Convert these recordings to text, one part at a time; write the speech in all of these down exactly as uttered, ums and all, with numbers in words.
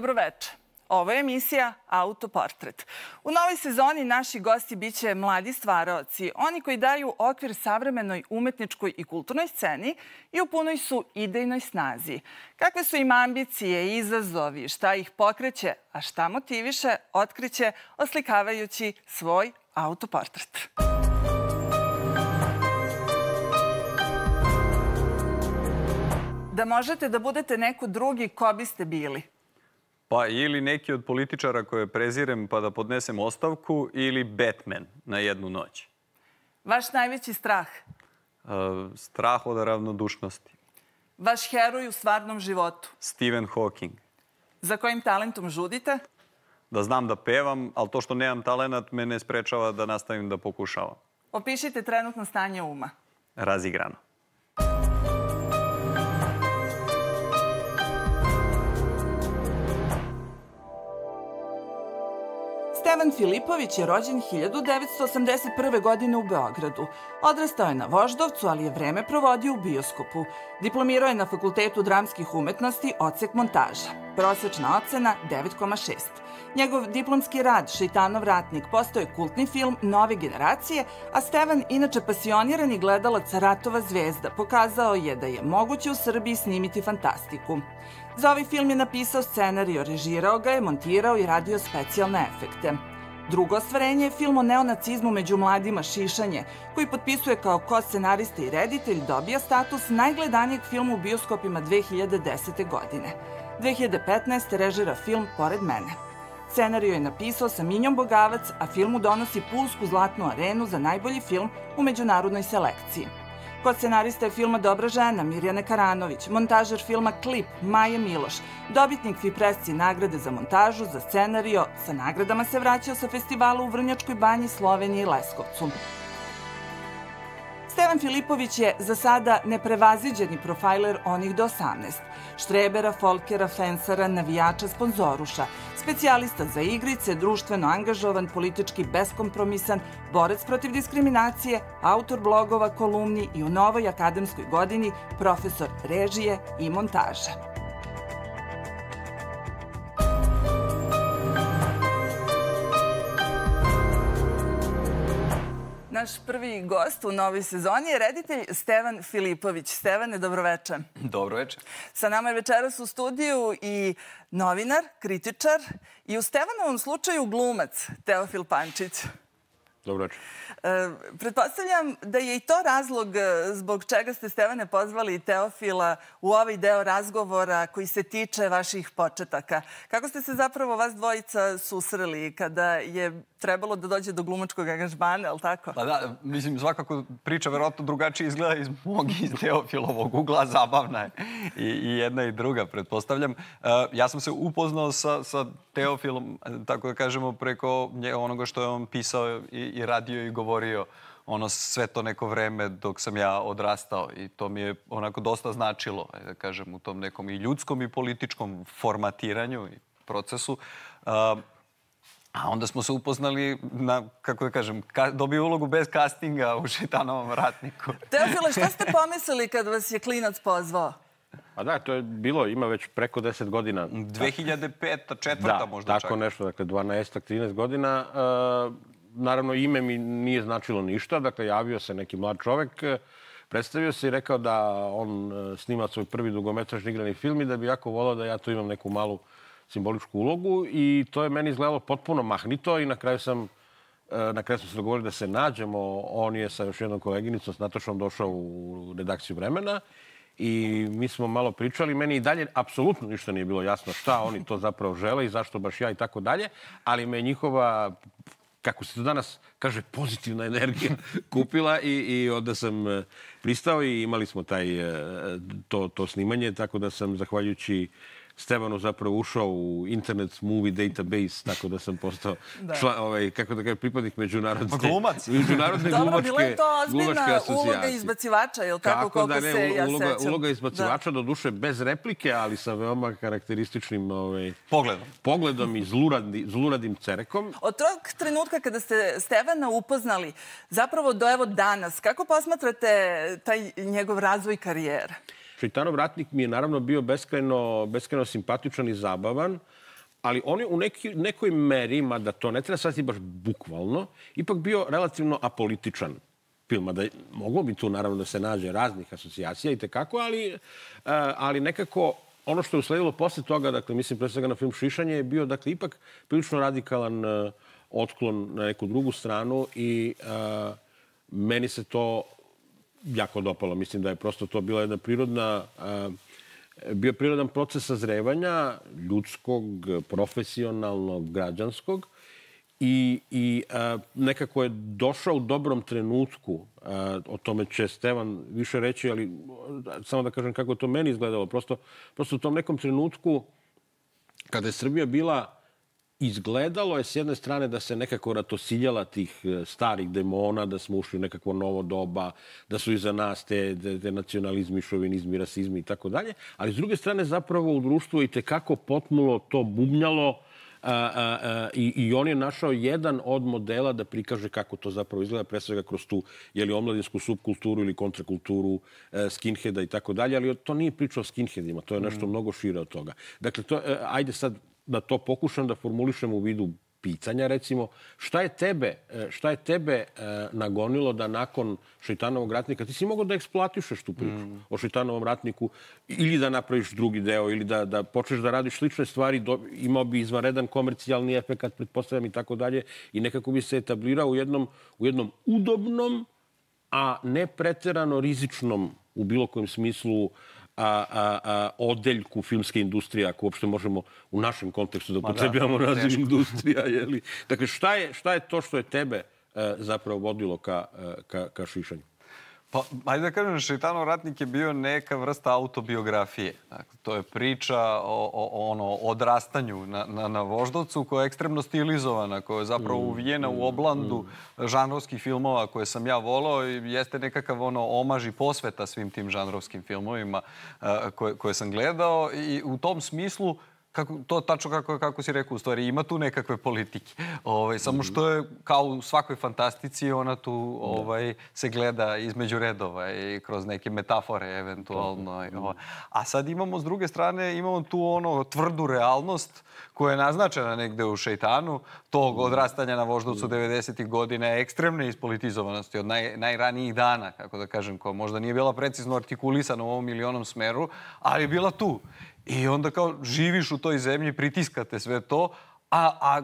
Dobroveče. Ovo je emisija Autoportret. U novoj sezoni naši gosti biće mladi stvaraoci, oni koji daju okvir savremenoj umetničkoj i kulturnoj sceni i u punoj su idejnoj snazi. Kakve su im ambicije i izazovi, šta ih pokreće, a šta motiviše, otkriće oslikavajući svoj autoportret. Da možete da budete neko drugi, ko biste bili? Pa ili neki od političara koje prezirem pa da podnesem ostavku ili Batman na jednu noć. Vaš najveći strah? Strah od ravnodušnosti. Vaš heroj u stvarnom životu? Stephen Hawking. Za kojim talentom žudite? Da znam da pevam, ali to što nemam talenat me ne sprečava da nastavim da pokušavam. Opišite trenutno stanje uma. Razigrano. Stevan Filipović je rođen hiljadu devetsto osamdeset prve. godine u Beogradu. Odrastao je na Voždovcu, ali je vreme provodio u bioskopu. Diplomirao je na Fakultetu dramskih umetnosti, odsek montaža. Prosečna ocena devet zarez šest. Njegov diplomski rad Šeitanov ratnik postao je kultni film nove generacije, a Stevan, inače pasionirani gledalac ratova zvezda, pokazao je da je moguće u Srbiji snimiti fantastiku. Za ovaj film je napisao scenarijo, režirao ga je, montirao i radio specijalne efekte. Drugo ostvarenje je film o neonacizmu među mladima Šišanje, koji potpisuje kao ko-scenarista i reditelj, dobija status najgledanijeg filma u bioskopima dve hiljade desete. godine. dve hiljade petnaeste. režira film Pored mene. Scenarijo je napisao sa Minjom Bogavac, a filmu donosi Pulsku zlatnu arenu za najbolji film u međunarodnoj selekciji. Kod scenarista je filma Dobra žena Mirjana Karanović, montažer filma Klip Maja Miloš, dobitnik Fipresci nagrade za montažu, za scenarijo, sa nagradama se vraćao sa festivala u Vrnjačkoj banji, Sloveniji i Leskovcu. Stevan Filipović je za sada neprevaziđeni profajler onih do osamnaest. Štrebera, folkera, fensara, navijača, sponzoruša, specijalista za igrice, društveno angažovan, politički beskompromisan, borac protiv diskriminacije, autor blogova, kolumni i u novoj akademskoj godini profesor režije i montaža. Naš prvi gost u novoj sezoni je reditelj Stevan Filipović. Stevane, dobroveče. Dobroveče. Sa nama je večeras u studiju i novinar, kritičar i u Stevanovom slučaju glumac Teofil Pančić. Dobroveče. Pretpostavljam da je i to razlog zbog čega ste, Stevane, pozvali Teofila u ovaj deo razgovora koji se tiče vaših početaka. Kako ste se zapravo vas dvojica susreli kada je trebalo da dođe do glumačkog angažmana, je li tako? Pa da, mislim, svakako priča verovatno drugačije izgleda iz mog i iz Teofilovog ugla, zabavna je i jedna i druga, pretpostavljam. Ja sam se upoznao sa Teofilom, tako da kažemo, preko onoga što je on pisao i radio i govorio ono sve to neko vreme dok sam ja odrastao i to mi je onako dosta značilo, da kažem, u tom nekom i ljudskom i političkom formatiranju i procesu. A onda smo se upoznali na, kako da kažem, dobio ulogu bez castinga u Šeitanovom ratniku. Teofile, šta ste pomislili kad vas je klinac pozvao? A da, to je bilo, ima već preko deset godina. dve hiljade peta, četvrta možda čak. Da, tako nešto, dakle, dvanaest, trinaest godina. Naravno, ime mi nije značilo ništa, dakle, javio se neki mlad čovek, predstavio se i rekao da on snima svoj prvi dugometražni igrani film i da bi jako volao da ja tu imam neku malu simboličku ulogu i to je meni izgledalo potpuno mahnito i na kraju sam na kraju smo se dogovorili da se nađemo. On je sa još jednom koleginicom, s Natašom, došao u redakciju Vremena i mi smo malo pričali. Meni i dalje apsolutno ništa nije bilo jasno šta oni to zapravo žele i zašto baš ja i tako dalje, ali me njihova, kako se to danas kaže, pozitivna energija kupila i onda sam pristao i imali smo taj to snimanje, tako da sam, zahvaljujući Stevanu, zapravo ušao u Internet Movie Database, tako da sam postao kako da kažem, pripadnik međunarodne glumačke asocijacije. Dobro, bila je to ozbiljna uloga izbacivača, je li tako, koliko se ja sećam? Uloga izbacivača, do duše bez replike, ali sa veoma karakterističnim pogledom i zluradim cerekom. Od tog trenutka kada ste Stevana upoznali, zapravo do evo danas, kako posmatrate taj njegov razvoj karijere? Šeitanov ratnik mi je naravno bio beskrajno simpatičan i zabavan. ali on je u neki, nekoj meri, mada to ne treba shvatiti baš bukvalno, ipak bio relativno apolitičan film. Mada moglo bi tu naravno da se nađe raznih asocijacija i tekako, ali, ali nekako ono što je usledilo posle toga, dakle, mislim pre svega na film Šišanje, je bio, dakle, ipak prilično radikalan otklon na neku drugu stranu i uh, meni se to jako dopalo. Mislim da je prosto to bila jedna prirodna, uh, bio prirodan proces sazrevanja ljudskog, profesionalnog, građanskog i, i uh, nekako je došao u dobrom trenutku. Uh, o tome će Stevan više reći, ali samo da kažem kako to meni izgledalo. Prosto, prosto u tom nekom trenutku kada je Srbija bila izgledalo je s jedne strane da se nekako ratosiljala tih starih demona, da smo ušli u nekakvo novo doba, da su iza nas te, te, te nacionalizmi, šovinizmi, rasizmi i tako dalje. Ali s druge strane zapravo u društvu i tekako potmulo to bubnjalo a, a, a, i, i on je našao jedan od modela da prikaže kako to zapravo izgleda, pre svega kroz tu jeli, omladinsku subkulturu ili kontrakulturu e, skinheada i tako dalje. Ali to nije priča o skinheadima, to je nešto mm. mnogo šire od toga. Dakle, to, e, ajde sad da to pokušam da formulišem u vidu pitanja, recimo, šta je tebe, šta je tebe e, nagonilo da nakon Šeitanovog ratnika, ti si mogao da eksploatišeš tu priču mm. o Šeitanovom ratniku ili da napraviš drugi deo ili da, da počneš da radiš slične stvari, do, imao bi izvanredan komercijalni efekat, pretpostavljam i tako dalje, i nekako bi se etablirao u jednom, u jednom udobnom, a ne preterano rizičnom u bilo kojem smislu A, a, a, odeljku filmske industrije, ako uopšte možemo u našem kontekstu da upotrebljamo da, naziv industrija. Jeli? Dakle, šta je, šta je to što je tebe e, zapravo vodilo ka, ka, ka Šišanju? Pa, ajde da kažem, Šeitanov ratnik je bio neka vrsta autobiografije. Dakle, to je priča o, o, o ono, odrastanju na, na, na Voždovcu koja je ekstremno stilizovana, koja je zapravo uvijena u oblandu žanrovskih filmova koje sam ja volao i jeste nekakav ono, omaž i posveta svim tim žanrovskim filmovima a, koje, koje sam gledao i u tom smislu kako, to tačno kako, kako si rekao, u stvari ima tu nekakve politike. Ovaj, samo što je kao u svakoj fantastici ona tu ovaj, se gleda između redova i kroz neke metafore eventualno. Ovaj. A sad imamo s druge strane, imamo tu ono tvrdu realnost koja je naznačena negde u Šeitanu, tog odrastanja na Voždovcu devedesetih godina, ekstremne ispolitizovanosti od naj, najranijih dana, kako da kažem, koja možda nije bila precizno artikulisana u ovom ili onom smeru, ali je bila tu. I onda kao živiš u toj zemlji, pritiskate sve to, a, a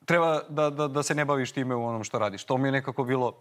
treba da, da, da se ne baviš time u onom što radiš. To mi je nekako bilo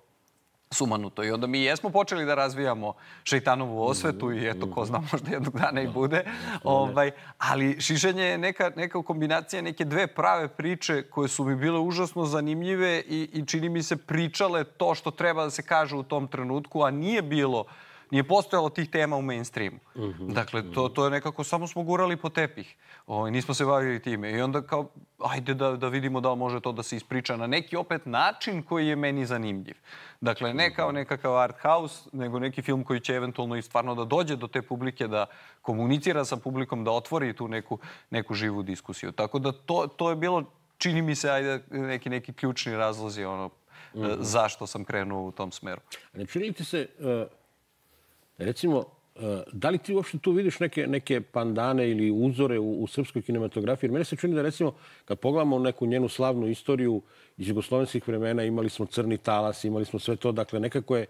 sumanuto. I onda mi jesmo počeli da razvijamo Šeitanovu osvetu i eto, ko zna, možda jednog dana i bude. Ovaj, ali Šišanje je neka, neka kombinacija neke dve prave priče koje su mi bile užasno zanimljive i, i čini mi se pričale to što treba da se kaže u tom trenutku, a nije bilo Nije postojalo tih tema u mainstreamu. Uh-huh, dakle, to, to je nekako, samo smo gurali po tepih. O, nismo se bavili time. I onda kao, ajde da, da vidimo da li može to da se ispriča na neki opet način koji je meni zanimljiv. Dakle, ne kao nekakav art house, nego neki film koji će eventualno i stvarno da dođe do te publike, da komunicira sa publikom, da otvori tu neku, neku živu diskusiju. Tako da to, to je bilo, čini mi se, ajde, neki, neki ključni razlozi ono, uh-huh. zašto sam krenuo u tom smeru. Ne čini ti se... Uh... Recimo, da li ti uopšte tu vidiš neke, neke pandane ili uzore u, u srpskoj kinematografiji? Jer mene se čini da, recimo, kad pogledamo neku njenu slavnu istoriju iz jugoslovenskih vremena, imali smo Crni talas, imali smo sve to. Dakle, nekako je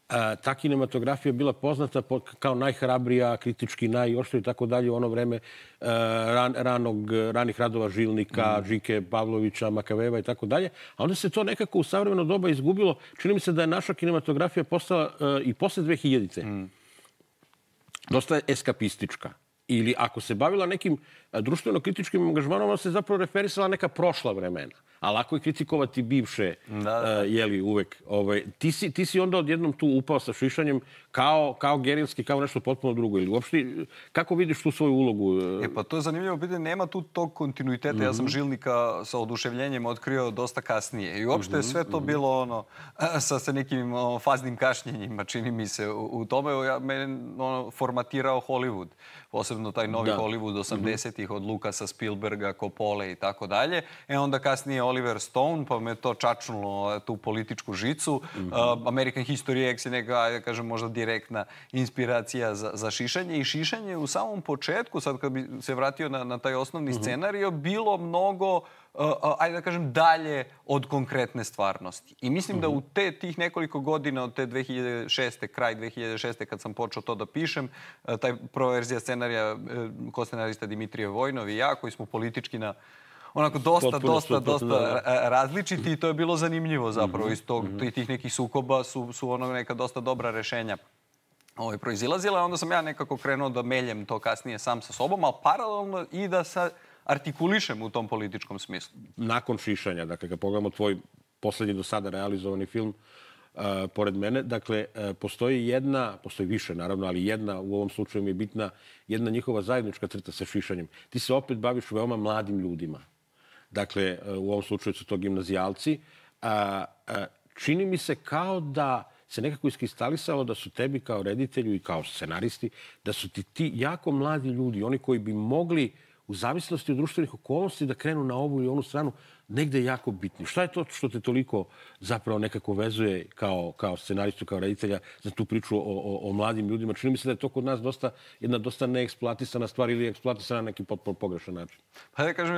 a, ta kinematografija bila poznata po, kao najhrabrija, kritički najoštrija i tako dalje u ono vreme a, ran, ranog, ranih radova Žilnika, mm. Žike Pavlovića, Makaveva i tako dalje. A onda se to nekako u savremeno doba izgubilo. Čini mi se da je naša kinematografija postala a, i posle dve hiljadite. Mm. Dosta je eskapistička. Ili ako se bavila nekim društveno-kritičkim angažmanom, ona se zapravo referisala neka prošla vremena. A lako je kritikovati bivše, da, da. Uh, jeli, uvek. Ovaj, ti, si, ti si onda odjednom tu upao sa Šišanjem kao, kao gerilski, kao nešto potpuno drugo. Ili uopšte, kako vidiš tu svoju ulogu? E pa to je zanimljivo pitanje. Nema tu tog kontinuiteta. Mm-hmm. Ja sam Žilnika sa oduševljenjem otkrio dosta kasnije. I uopšte je sve to mm-hmm. bilo ono, sa, sa nekim ono, faznim kašnjenjima, čini mi se. U, u tome ja, mene ono, formatirao Hollywood. Posebno taj novi da. Hollywood osamdesetih devedesetih od Lukasa, Spielberga, Coppole i tako dalje. E onda kasnije Oliver Stone, pa me to čačnulo tu političku žicu. American History X je neka, da kažem, možda direktna inspiracija za, za šišanje. I šišanje u samom početku, sad kad bi se vratio na, na taj osnovni scenario, bilo mnogo Uh, ajde da kažem, dalje od konkretne stvarnosti. I mislim da u te tih nekoliko godina, od te dve hiljade šeste, kraj dve hiljade šeste, kad sam počeo to da pišem, uh, taj proverzija scenarija, uh, ko-scenarista Dimitrije Vojnov i ja, koji smo politički na onako dosta, Potpuno dosta, suprotno, dosta da. a, različiti i to je bilo zanimljivo zapravo. Iz tog, tih nekih sukoba su, su ono neka dosta dobra rešenja ovaj, proizilazila. Onda sam ja nekako krenuo da meljem to kasnije sam sa sobom, ali paralelno i da sa artikulišem u tom političkom smislu. Nakon šišanja, dakle, kad pogledamo tvoj poslednji do sada realizovani film, uh, pored mene, dakle, uh, postoji jedna, postoji više naravno, ali jedna, u ovom slučaju mi je bitna, jedna njihova zajednička crta sa šišanjem. Ti se opet baviš veoma mladim ljudima. Dakle, uh, u ovom slučaju su to gimnazijalci. Uh, uh, čini mi se kao da se nekako iskristalisalo da su tebi kao reditelju i kao scenaristi, da su ti ti jako mladi ljudi, oni koji bi mogli u zavisnosti od društvenih okolnosti da krenu na ovu ili onu stranu, negde jako bitni. Šta je to što te toliko zapravo nekako vezuje kao, kao scenaristu, kao reditelja za tu priču o, o, o mladim ljudima? Čini mi se da je to kod nas dosta, jedna dosta neeksploatisana stvar ili eksploatisana na neki potpuno pogrešan način. Pa da kažem,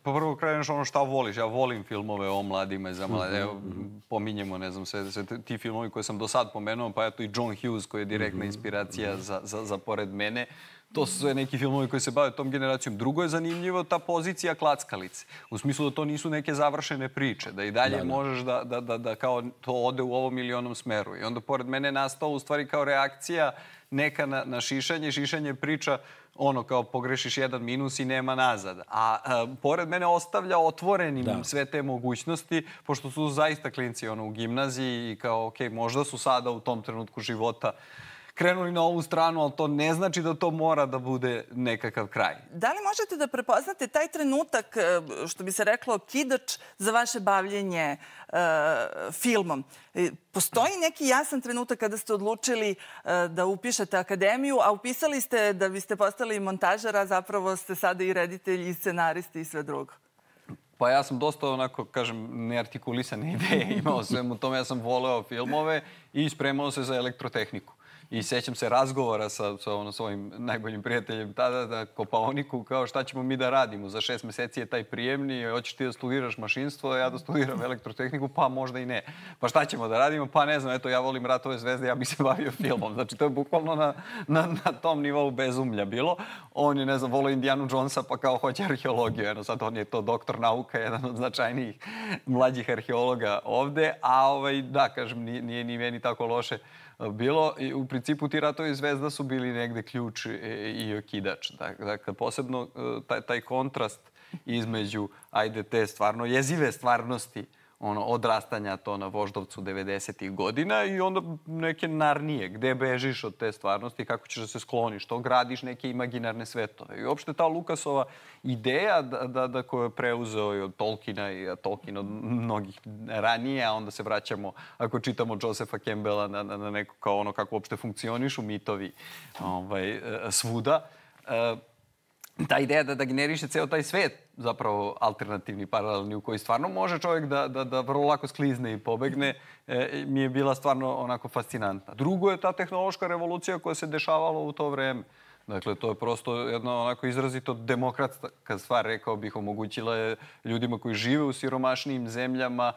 pa prvo kreneš ono šta voliš. Ja volim filmove o mladima i za mlade. Evo, pominjemo, ne znam, sve, sve ti filmovi koje sam do sad pomenuo, pa eto i John Hughes koji je direktna inspiracija za, za, za pored mene. To su sve neki filmovi koji se bave tom generacijom. Drugo je zanimljivo ta pozicija klackalice. U smislu da to nisu neke završene priče, da i dalje da, da. možeš da, da, da, da kao to ode u ovom ili onom smeru. I onda pored mene je nastao u stvari kao reakcija neka na, na šišanje. Šišanje priča ono kao pogrešiš jedan minus i nema nazad. A, a pored mene ostavlja otvorenim da. sve te mogućnosti, pošto su zaista klinci ono, u gimnaziji i kao, ok, možda su sada u tom trenutku života krenuli na ovu stranu, ali to ne znači da to mora da bude nekakav kraj. Da li možete da prepoznate taj trenutak, što bi se reklo, kidač za vaše bavljenje uh, filmom? Postoji neki jasan trenutak kada ste odlučili uh, da upišete akademiju, a upisali ste da biste postali montažer, a zapravo ste sada i reditelji, i scenaristi i sve drugo? Pa ja sam dosta, onako, kažem, neartikulisane ideje imao svemu tome. Ja sam voleo filmove i spremao se za elektrotehniku. I sećam se razgovora sa, sa ono, svojim najboljim prijateljem tada, da Kopaoniku, kao šta ćemo mi da radimo. Za šest meseci je taj prijemni, hoćeš ti da studiraš mašinstvo, a ja da studiram elektrotehniku, pa možda i ne. Pa šta ćemo da radimo? Pa ne znam, eto, ja volim Ratove zvezde, ja bih se bavio filmom. Znači, to je bukvalno na, na, na tom nivou bezumlja bilo. On je, ne znam, volio Indianu Jonesa, pa kao hoće arheologiju. Eno, sad on je to doktor nauka, jedan od značajnijih mlađih arheologa ovde. A ovaj, da, kažem, nije, nije ni meni tako loše bilo. I u principu ti Ratovi zvezda su bili negde ključ i okidač. Dakle, posebno taj, taj kontrast između, ajde, te stvarno jezive stvarnosti, ono, odrastanja to na Voždovcu devedesetih godina i onda neke Narnije, gde bežiš od te stvarnosti, kako ćeš da se skloniš, to gradiš neke imaginarne svetove. I uopšte ta Lukasova ideja da, da, da koju je preuzeo i od Tolkiena i Tolkien od mnogih ranije, a onda se vraćamo, ako čitamo Josepha Campbella, na, na, na neko kao ono kako uopšte funkcionišu mitovi ovaj, svuda, ta ideja da, da generiše ceo taj svet, zapravo alternativni, paralelni, u koji stvarno može čovjek da, da, da vrlo lako sklizne i pobegne, e, mi je bila stvarno onako fascinantna. Drugo je ta tehnološka revolucija koja se dešavala u to vreme. Dakle, to je prosto jedna onako izrazito demokratska stvar, rekao bih, omogućila je ljudima koji žive u siromašnijim zemljama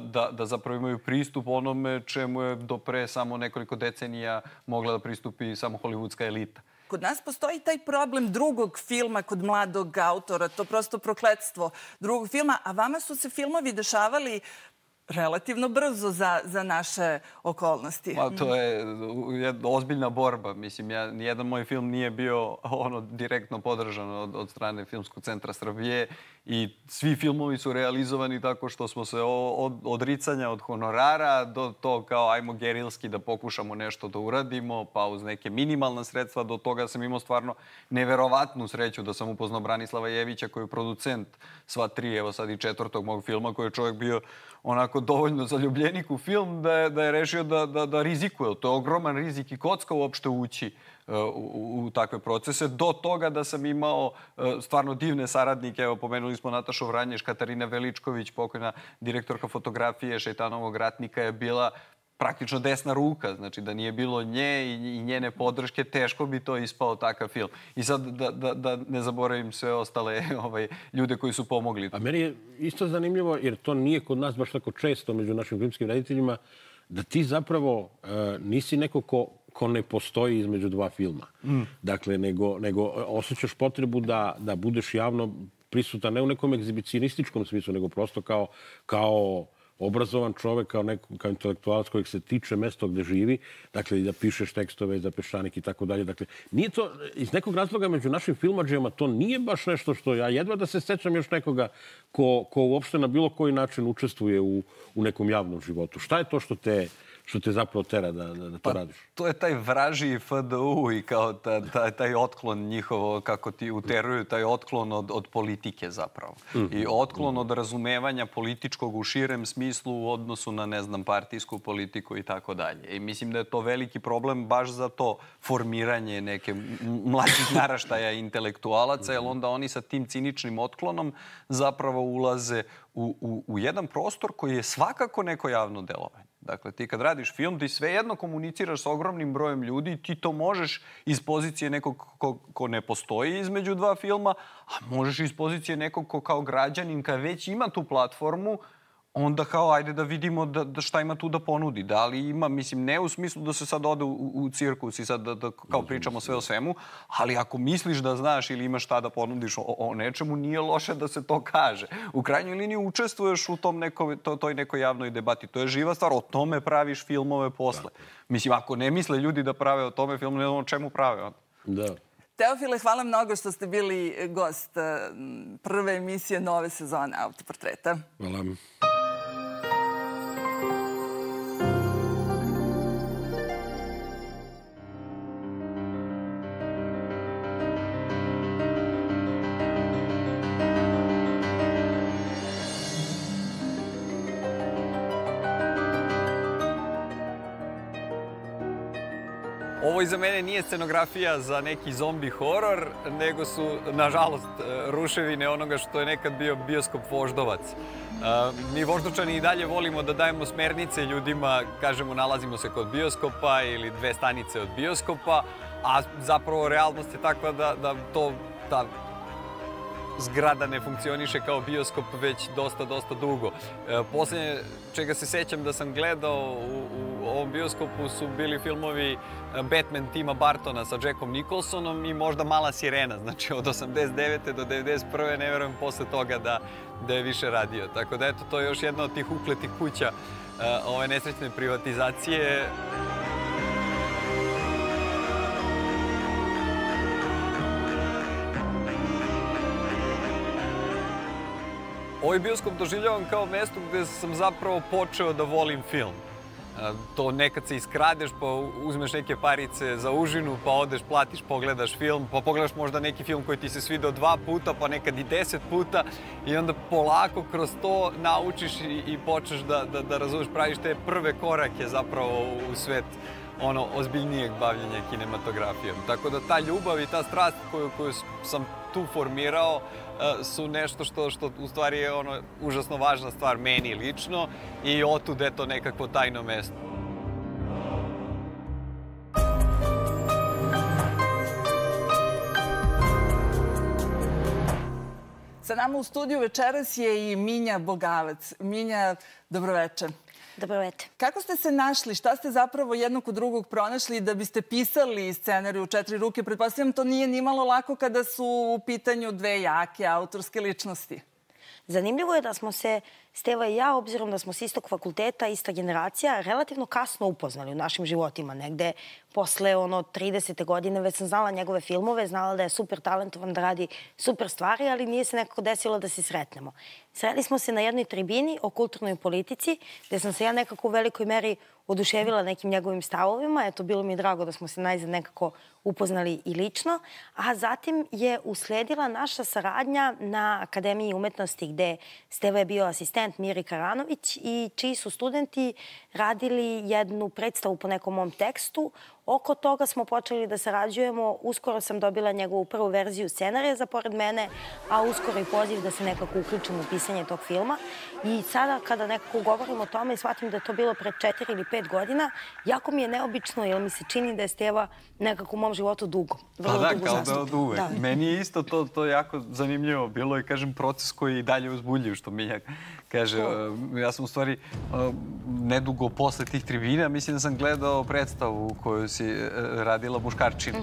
da, da zapravo imaju pristup onome čemu je do pre samo nekoliko decenija mogla da pristupi samo hollywoodska elita. Kod nas postoji taj problem drugog filma kod mladog autora, to prosto prokletstvo drugog filma, a vama su se filmovi dešavali relativno brzo za, za naše okolnosti. Pa, to je jedna ozbiljna borba. Mislim, ja, nijedan moj film nije bio ono direktno podržan od, od strane Filmskog centra Srbije i svi filmovi su realizovani tako što smo se od odricanja od honorara do to kao ajmo gerilski da pokušamo nešto da uradimo, pa uz neke minimalna sredstva, do toga sam imao stvarno neverovatnu sreću da sam upoznao Branislava Jevića koji je producent sva tri, evo sad i četvrtog mog filma, koji je čovjek bio onako dovoljno zaljubljenik u film da je, da je rešio da, da, da rizikuje. To je ogroman rizik i kocka uopšte ući uh, u, u takve procese. Do toga da sam imao uh, stvarno divne saradnike. Evo, pomenuli smo Natašu Vranješ, Katarina Veličković, pokojna direktorka fotografije Šejtanovog ratnika, je bila praktično desna ruka, znači da nije bilo nje i njene podrške, teško bi to ispao takav film. I sad da, da, da ne zaboravim sve ostale ovaj, ljude koji su pomogli. A meni je isto zanimljivo, jer to nije kod nas baš tako često među našim filmskim rediteljima, da ti zapravo uh, nisi neko ko, ko ne postoji između dva filma. Mm. Dakle, nego, nego osjećaš potrebu da, da budeš javno prisutan, ne u nekom egzibicionističkom smislu, nego prosto kao, kao obrazovan čovek, kao, neko, kao intelektualac kojeg se tiče mesto gde živi, dakle, da pišeš tekstove za Peščanik i tako dalje. Dakle, nije to, iz nekog razloga među našim filmadžijama to nije baš nešto što ja jedva da se sećam još nekoga ko, ko uopšte na bilo koji način učestvuje u, u nekom javnom životu. Šta je to što te, što te zapravo tera da, da, da to pa, radiš? To je taj vražiji F D U i kao ta, ta, taj otklon njihovo, kako ti uteruju, taj otklon od, od politike zapravo. Mm-hmm. I otklon od razumevanja političkog u širem smislu u odnosu na, ne znam, partijsku politiku i tako dalje. I mislim da je to veliki problem baš za to formiranje neke mlađih naraštaja intelektualaca, jer onda oni sa tim ciničnim otklonom zapravo ulaze u, u, u jedan prostor koji je svakako neko javno delovanje. Dakle, ti kad radiš film, ti svejedno komuniciraš s ogromnim brojem ljudi, ti to možeš iz pozicije nekog ko, ko ne postoji između dva filma, a možeš iz pozicije nekog ko kao građanin, kad već ima tu platformu, onda kao ajde da vidimo da, da šta ima tu da ponudi. Da li ima, mislim, ne u smislu da se sad ode u, u cirkus i sad da, da kao pričamo sve o svemu, ali ako misliš da znaš ili imaš šta da ponudiš o, o nečemu, nije loše da se to kaže. U krajnjoj liniji učestvuješ u tom neko, to, toj nekoj javnoj debati. To je živa stvar, o tome praviš filmove posle. Mislim, ako ne misle ljudi da prave o tome film, ne znam o čemu prave onda. Da. Teofile, hvala mnogo što ste bili gost prve emisije nove sezone Autoportreta. Hvala. Ovo iza mene nije scenografija za neki zombi horor, nego su, nažalost, ruševine onoga što je nekad bio bioskop Voždovac. Mi Voždovčani i dalje volimo da dajemo smernice ljudima, kažemo nalazimo se kod bioskopa ili dve stanice od bioskopa, a zapravo realnost je takva da, da to, ta zgrada ne funkcioniše kao bioskop već dosta, dosta dugo. Posljednje čega se sećam da sam gledao u, u ovom bioskopu su bili filmovi Batman Tima Bartona sa Jackom Nicholsonom i možda Mala sirena. Znači od osamdeset devete do devedeset prve ne verujem posle toga da, da je više radio. Tako da eto, to je još jedna od tih ukletih kuća ove nesrećne privatizacije. Ovaj bioskop doživljavam kao mesto gde sam zapravo počeo da volim film. To nekad se iskradeš, pa uzmeš neke parice za užinu, pa odeš, platiš, pogledaš film, pa pogledaš možda neki film koji ti se svidao dva puta, pa nekad i deset puta i onda polako kroz to naučiš i, i počneš da, da, da razumeš, praviš te prve korake zapravo u svet ono ozbiljnijeg bavljenja kinematografijom. Tako da ta ljubav i ta strast koju, koju sam tu formirao su nešto što, što u stvari je ono užasno važna stvar meni lično i otud je to nekakvo tajno mesto. Sa nama u studiju večeras je i Minja Bogavac. Minja, dobroveče. Dobroveče. Kako ste se našli? Šta ste zapravo jednog kod drugog pronašli da biste pisali scenariju u četiri ruke? Pretpostavljam, to nije ni malo lako kada su u pitanju dve jake autorske ličnosti. Zanimljivo je da smo se Steva i ja, obzirom da smo s istog fakulteta, ista generacija, relativno kasno upoznali u našim životima. Negde posle ono tridesete godine već sam znala njegove filmove, znala da je super talentovan, da radi super stvari, ali nije se nekako desilo da se sretnemo. Sreli smo se na jednoj tribini o kulturnoj politici, gde sam se ja nekako u velikoj meri oduševila nekim njegovim stavovima. Eto, bilo mi je drago da smo se najzad nekako upoznali i lično. A zatim je usledila naša saradnja na Akademiji umetnosti gde Steva je bio asistent Miri Karanović i čiji su studenti radili jednu predstavu po nekom mom tekstu. Oko toga smo počeli da sarađujemo. Uskoro sam dobila njegovu prvu verziju scenarija za Pored mene, a uskoro i poziv da se nekako uključim u pisanje tog filma. I sada kada nekako govorim o tome i shvatim da je to bilo pre četiri ili pet godina, jako mi je neobično jer mi se čini da je Steva nekako u mom životu dugo. Pa da, kao da od uvek. Meni je isto to, to jako zanimljivo bilo i kažem proces koji je i dalje uzbudljiv, što Milja kaže. Ja sam u stvari nedugo posle tih tribina, mislim da sam gledao predstavu koju si radila Muškarčin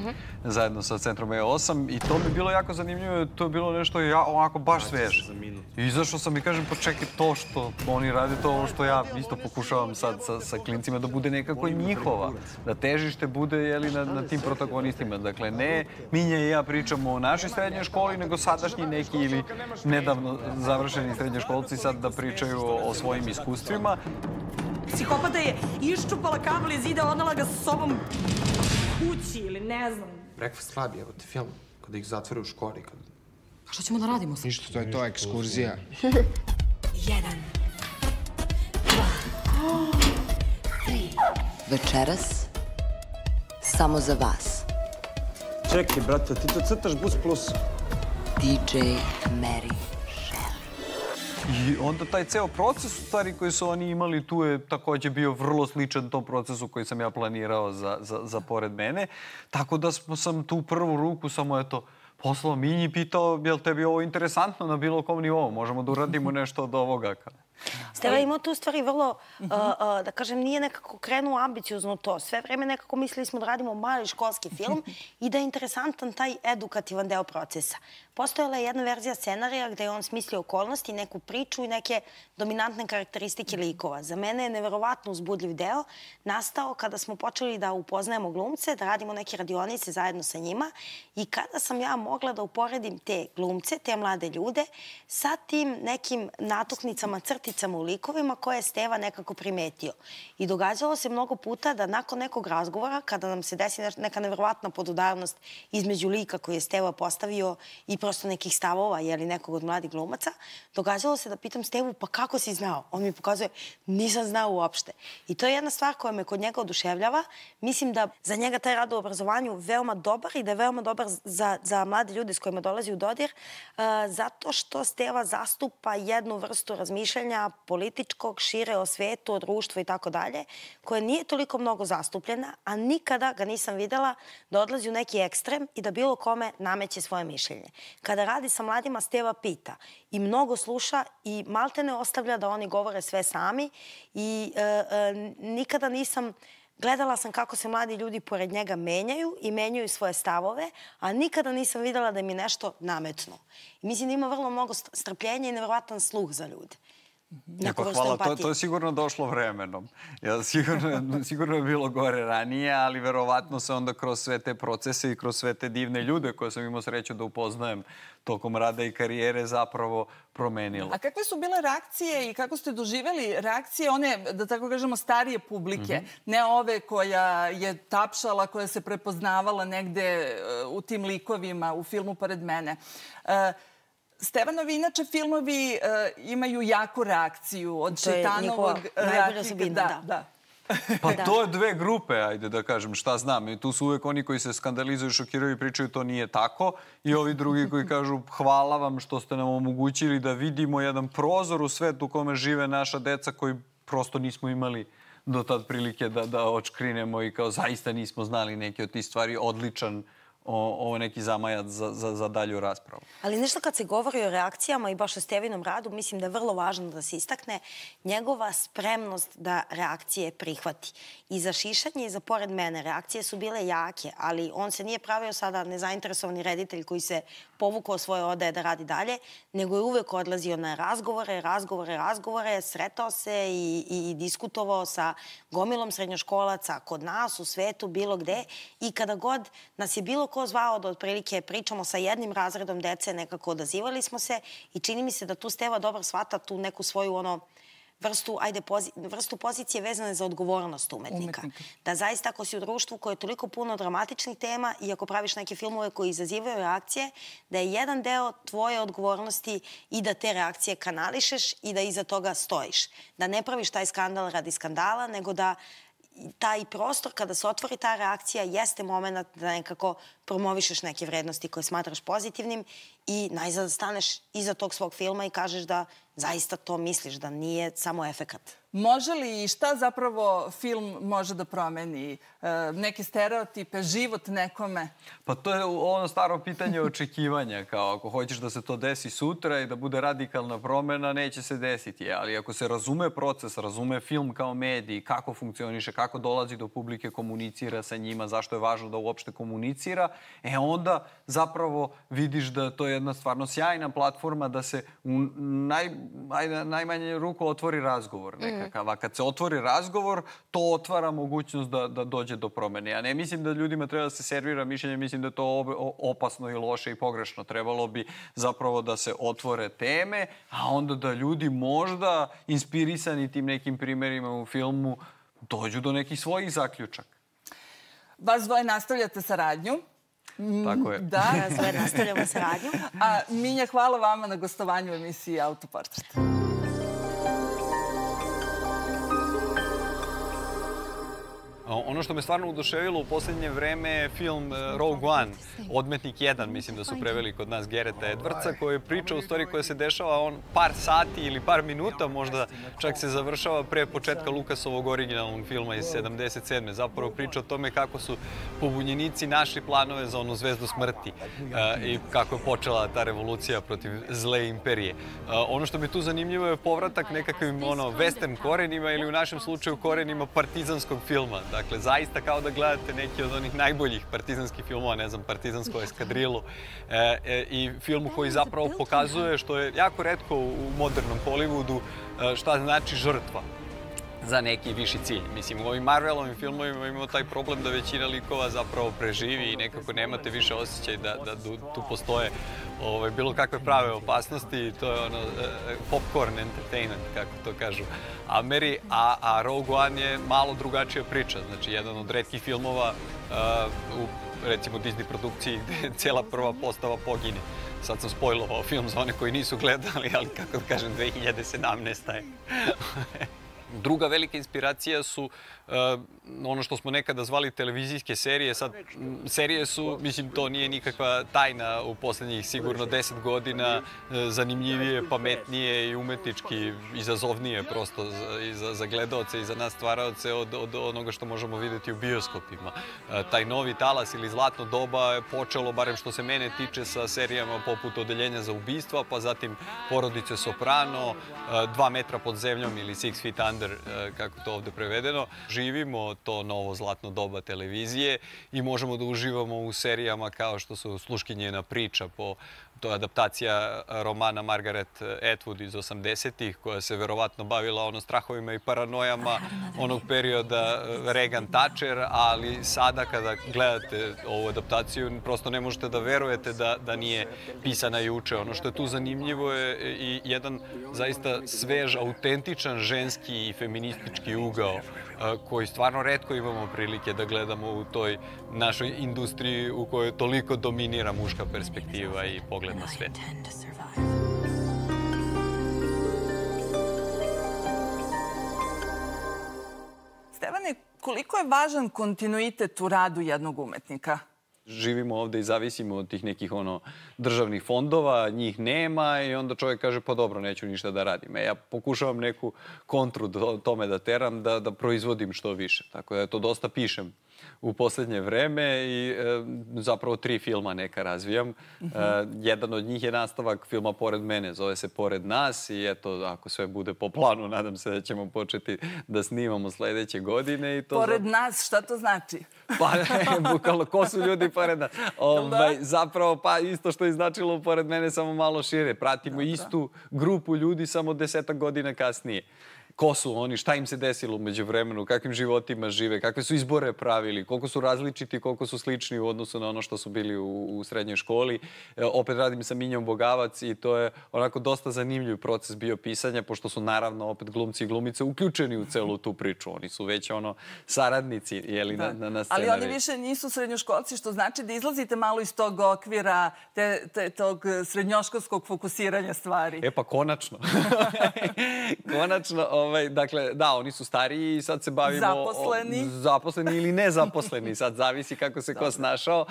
zajedno sa Centrom E osam i to mi je bilo jako zanimljivo. To je bilo nešto onako baš sveže. I izašao sam i kažem, pa čekaj, to što oni rade, to ovo što ja isto pokušavam sad sa klincima da bude nekako njihova. Da težište bude na tim protagonistima. Dakle, ne Minja i ja pričamo o našoj srednjoj školi, nego sadašnji neki ili nedavno završeni srednjoškolci sad da pričaju o svojim iskustvima. Psihopata je iščupala kabel iz zida, odnala ga sa sobom kući ili ne znam. Breakfast Club je, evo ti film, kada ih zatvore u školi. A što ćemo da radimo sad? Ništa, to je to, ekskurzija. Jedan, dva, tri. Večeras, samo za vas. Čekaj, brate, ti to crtaš Bus Plus? D J Mary. I onda taj ceo proces, u stvari, koji su oni imali tu je takođe bio vrlo sličan tom procesu koji sam ja planirao za Pored mene. Tako da sam tu prvu ruku samo, eto, poslao Minji i pitao je li tebi ovo interesantno na bilo kom nivou? Možemo da uradimo nešto od ovoga? Steva ima tu stvari vrlo, da kažem, nije nekako krenuo ambiciozno to. Sve vreme nekako mislili smo da radimo mali školski film i da je interesantan taj edukativan deo procesa. Postojala je jedna verzija scenarija gde je on smislio okolnosti, neku priču i neke dominantne karakteristike likova. Za mene je neverovatno uzbudljiv deo nastao kada smo počeli da upoznajemo glumce, da radimo neke radionice zajedno sa njima i kada sam ja mogla da uporedim te glumce, te mlade ljude sa tim nekim natuknicama, crticama u likovima koje je Steva nekako primetio. I događalo se mnogo puta da nakon nekog razgovora, kada nam se desi neka neverovatna podudarnost između lika koji je Steva postavio i prosto nekih stavova, jeli nekog od mladih glumaca, događalo se da pitam Stevu, pa kako si znao? On mi pokazuje, nisam znao uopšte. I to je jedna stvar koja me kod njega oduševljava. Mislim da za njega taj rad u obrazovanju veoma dobar i da je veoma dobar za, za mlade ljude s kojima dolazi u dodir, uh, zato što Steva zastupa jednu vrstu razmišljanja političkog, šire o svetu, o društvu i tako dalje, koje nije toliko mnogo zastupljena, a nikada ga nisam videla da odlazi u neki ekstrem i da bilo kome nameće svoje mišljenje. Kada radi sa mladima, Steva pita i mnogo sluša i malte ne ostavlja da oni govore sve sami i e, e, nikada nisam... Gledala sam kako se mladi ljudi pored njega menjaju i menjaju svoje stavove, a nikada nisam videla da mi nešto nametnu. I mislim da ima vrlo mnogo strpljenja i neverovatan sluh za ljude. Hvala, to je sigurno došlo vremenom. Sigurno je bilo gore ranije, ali verovatno se onda kroz sve te procese i kroz sve te divne ljude koje sam imao sreću da upoznajem tokom rada i karijere zapravo promenilo. A kakve su bile reakcije i kako ste doživjeli reakcije one, da tako kažemo, starije publike? Ne ove koja je tapšala, koja se prepoznavala negde u tim likovima, u filmu Pored mene. Stevanovi, inače, filmovi imaju jaku reakciju od Šejtanovog... To je njihova najbolja osobina, da. Pa to je dve grupe, ajde da kažem, šta znam. I tu su uvek oni koji se skandalizuju, šokiraju i pričaju to nije tako. I ovi drugi koji kažu hvala vam što ste nam omogućili da vidimo jedan prozor u svet u kome žive naša deca koji prosto nismo imali do tad prilike da očkrinemo i kao zaista nismo znali neke od tih stvari. Odličan ovo neki zamajac za, za, za dalju raspravu. Ali nešto kad se govori o reakcijama i baš o Stevinom radu, mislim da je vrlo važno da se istakne njegova spremnost da reakcije prihvati. I za Šišanje i za Pored mene reakcije su bile jake, ali on se nije pravio sada nezainteresovani reditelj koji se povukao svoje odaje da radi dalje, nego je uvek odlazio na razgovore, razgovore, razgovore, sretao se i, i, i diskutovao sa gomilom srednjoškolaca kod nas, u svetu, bilo gde. I kada god nas je bilo ko zvao da otprilike pričamo sa jednim razredom dece, nekako odazivali smo se i čini mi se da tu Steva dobro shvata tu neku svoju ono vrstu, ajde, pozi, vrstu pozicije vezane za odgovornost umetnika. umetnika. Da zaista ako si u društvu koje je toliko puno dramatičnih tema i ako praviš neke filmove koji izazivaju reakcije, da je jedan deo tvoje odgovornosti i da te reakcije kanališeš i da iza toga stojiš. Da ne praviš taj skandal radi skandala, nego da taj prostor kada se otvori ta reakcija jeste moment da nekako promovišeš neke vrednosti koje smatraš pozitivnim i najzad staneš iza tog svog filma i kažeš da zaista to misliš, da nije samo efekat. Može li i šta zapravo film može da promeni? E, neke stereotipe, život nekome? Pa to je ono staro pitanje očekivanja. Kao ako hoćeš da se to desi sutra i da bude radikalna promena, neće se desiti. Ali ako se razume proces, razume film kao medij, kako funkcioniše, kako dolazi do publike, komunicira sa njima, zašto je važno da uopšte komunicira, e onda zapravo vidiš da to je jedna stvarno sjajna platforma da se u naj, ajde, najmanje ruku otvori razgovor nekakav. A kad se otvori razgovor, to otvara mogućnost da, da dođe do promene. Ja ne mislim da ljudima treba da se servira mišljenje, mislim da je to opasno i loše i pogrešno. Trebalo bi zapravo da se otvore teme, a onda da ljudi možda inspirisani tim nekim primerima u filmu dođu do nekih svojih zaključaka. Vas dvoje nastavljate saradnju. Tako je. Da, sve nastavljamo saradnju. A Minja, hvala vama na gostovanju u emisiji Autoportret. Ono što me stvarno oduševilo u poslednje vreme je film Rogue One, Odmetnik jedan, mislim da su preveli kod nas Gareta Edwardsa, koji je priča u stvari koja se dešava on par sati ili par minuta, možda čak se završava pre početka Lukasovog originalnog filma iz sedamdeset sedme. Zapravo priča o tome kako su pobunjenici našli planove za onu zvezdu smrti i kako je počela ta revolucija protiv zle imperije. Ono što mi tu zanimljivo je povratak nekakvim ono, western korenima ili u našem slučaju korenima partizanskog filma. Dakle, zaista kao da gledate neki od onih najboljih partizanskih filmova, ne znam, Partizansku eskadrilu e, e, i filmu koji zapravo pokazuje, što je jako retko u modernom Hollywoodu, šta znači žrtva za neki viši cilj. Mislim, u ovim Marvelovim filmovima imamo taj problem da većina likova zapravo preživi i nekako nemate više osjećaj da, da tu postoje ovaj, bilo kakve prave opasnosti. To je ono popcorn entertainment, kako to kažu Ameri, a, a Rogue One je malo drugačija priča. Znači, jedan od retkih filmova uh, u, recimo, Disney produkciji gde cijela prva postava pogine. Sad sam spojlovao film za one koji nisu gledali, ali kako da kažem, dve hiljade sedamnaesta je. Druga velika inspiracija su uh, ono što smo nekada zvali televizijske serije. Sad, serije su, mislim, to nije nikakva tajna u poslednjih sigurno deset godina, uh, zanimljivije, pametnije i umetnički izazovnije prosto za, i za, za gledaoce i za nas stvaraoce od, od onoga što možemo videti u bioskopima. Uh, taj novi talas ili zlatno doba je počelo, barem što se mene tiče, sa serijama poput Odeljenja za ubistva, pa zatim Porodice Soprano, uh, Dva metra pod zemljom ili Six Feet Under, kako to ovde prevedeno. Živimo to novo zlatno doba televizije i možemo da uživamo u serijama kao što su Sluškinjena priča, po to je adaptacija romana Margaret Atwood iz osamdesetih, koja se verovatno bavila ono strahovima i paranojama onog perioda Reagan Thatcher, ali sada kada gledate ovu adaptaciju prosto ne možete da verujete da, da nije pisana juče. Ono što je tu zanimljivo je i jedan zaista svež, autentičan ženski i feministički ugao koji stvarno retko imamo prilike da gledamo u toj našoj industriji u kojoj toliko dominira muška perspektiva i pogled na svet. Stevane, koliko je važan kontinuitet u radu jednog umetnika? Živimo ovde i zavisimo od tih nekih ono državnih fondova, njih nema i onda čovjek kaže pa dobro, neću ništa da radim. E, ja pokušavam neku kontru tome da teram, da, da proizvodim što više. Tako da to dosta pišem u poslednje vreme i zapravo tri filma neka razvijam. Jedan od njih je nastavak filma Pored mene, zove se Pored nas i eto, ako sve bude po planu, nadam se da ćemo početi da snimamo sledeće godine. Pored nas, šta to znači? Pa, bukvalno, ko su ljudi pored nas? Zapravo, pa isto što je značilo Pored mene, samo malo šire. Pratimo istu grupu ljudi, samo desetak godina kasnije. Ko su oni, šta im se desilo umeđu vremenu, kakvim životima žive, kakve su izbore pravili, koliko su različiti, koliko su slični u odnosu na ono što su bili u srednjoj školi. Opet radim sa Minjom Bogavac i to je onako dosta zanimljiv proces bio pisanja, pošto su naravno opet glumci i glumice uključeni u celu tu priču. Oni su već ono saradnici, jeli, na scenariju. Ali oni više nisu srednjoškolci, što znači da izlazite malo iz tog okvira, tog srednjoškolskog fokusiranja stvari. E pa konačno. Konačno. Dakle, da, oni su stariji i sad se bavimo... Zaposleni. Zaposleni ili nezaposleni, sad zavisi kako se ko snašao.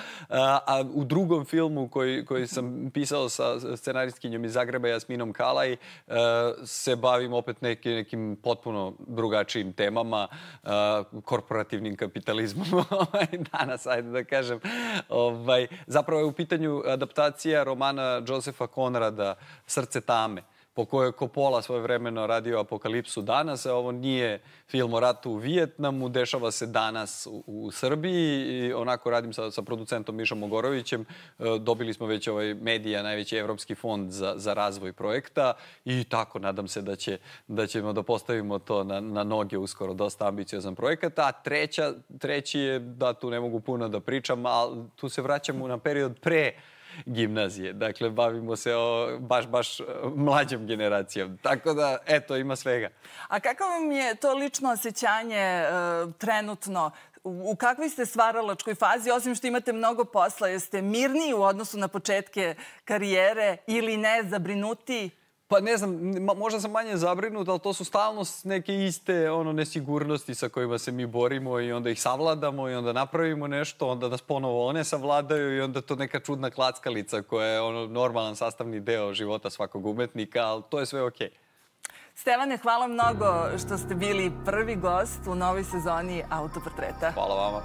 A u drugom filmu koji sam pisao sa scenaristkinjom iz Zagreba, Jasminom Kalaj, se bavim opet nekim potpuno drugačijim temama, korporativnim kapitalizmom danas, ajde da kažem. Zapravo je u pitanju adaptacija romana Josefa Konrada Srce tame, po kojoj je Coppola svojevremeno radio Apokalipsu danas. Ovo nije film o ratu u Vijetnamu, dešava se danas u Srbiji i onako radim sa producentom Mišom Mogorovićem. Dobili smo već ovaj Medija, najveći evropski fond za razvoj projekta i tako nadam se da ćemo da postavimo to na noge uskoro. Dosta ambiciozan projekat. A treći je, da tu ne mogu puno da pričam, ali tu se vraćamo na period pre gimnazije. Dakle, bavimo se o baš, baš mlađom generacijom. Tako da, eto, ima svega. A kako vam je to lično osjećanje trenutno? U kakvoj ste stvaralačkoj fazi, osim što imate mnogo posla? Jeste mirniji u odnosu na početke karijere ili ne, zabrinuti? Pa ne znam, možda sam manje zabrinut, ali to su stalno neke iste nesigurnosti sa kojima se mi borimo i onda ih savladamo i onda napravimo nešto, onda nas ponovo one savladaju i onda to neka čudna klackalica koja je normalan sastavni deo života svakog umetnika, ali to je sve okej. Stevane, hvala mnogo što ste bili prvi gost u novoj sezoni Autoportreta. Hvala vama.